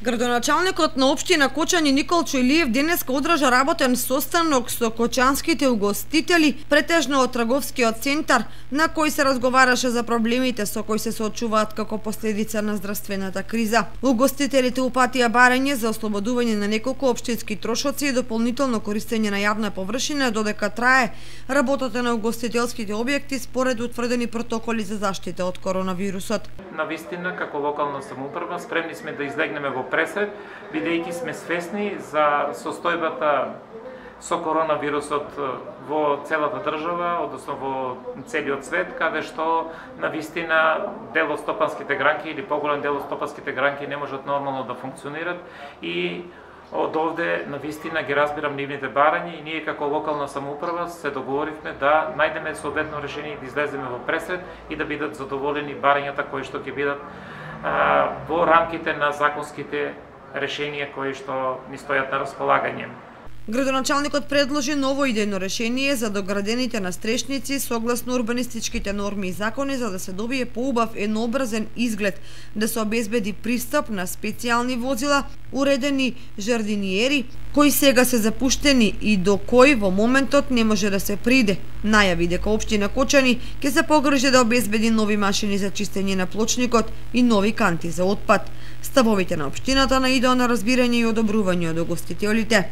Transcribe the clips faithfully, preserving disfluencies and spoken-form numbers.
Градоначалникот на општина Кочани Николчо Илиев денеска одржа работен состанок со кочанските угостители, претежно од трговскиот центар, на кој се разговараше за проблемите со кои се соочуваат како последица на здравствената криза. Угостителите упатија барање за ослободување на неколку општински трошоци и дополнително користење на јавна површина додека трае работата на угостителските објекти според утврдени протоколи за заштита од коронавирусот. Навистина, како локална самоуправа, спремни сме да излегнеме во пресред, бидејќи сме свесни за состојбата со коронавирусот во целата држава, односно во целиот свет, каде што навистина дел од стопанските гранки или поголем дел од стопанските гранки не можат нормално да функционират и од овде навистина ги разбирам нивните барања и ние како локална самоуправа се договоривме да најдеме соодветно решение и да излеземе во пресред и да бидат задоволени барањата кои што ќе бидат а, во рамките на законските решенија кои што ни стојат на располагање. Градоначалникот предложи ново идејно решение за доградените настрешници согласно урбанистичките норми и закони за да се добие поубав еднообразен изглед, да се обезбеди пристап на специјални возила, уредени жардиниери, кои сега се запуштени и до кои во моментот не може да се приде. Најави дека општина Кочани ќе се погрижи да обезбеди нови машини за чистење на плочникот и нови канти за отпад. Ставовите на општината наидоа на разбирање и одобрување од угостителите.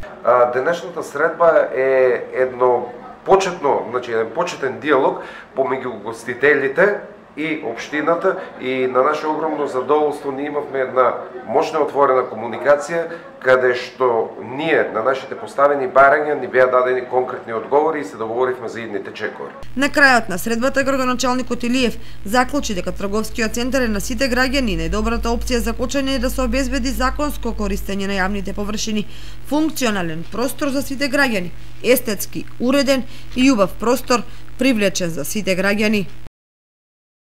Денешната средба е едно почетно, значи еден почетен диалог помеѓу угостителите и општината и на наше огромно задоволство ние имавме една мощна отворена комуникација каде што ние на нашите поставени барања ни беа дадени конкретни одговори и се договоривме за идните чекови. На крајот на средбата градоначалникот Илиев заклучи дека трговскиот центар е на сите граѓани и најдобрата опција за Кочани е да се обезбеди законско користење на јавните површини, функционален простор за сите граѓани, естетски уреден и убав простор привлечен за сите граѓани.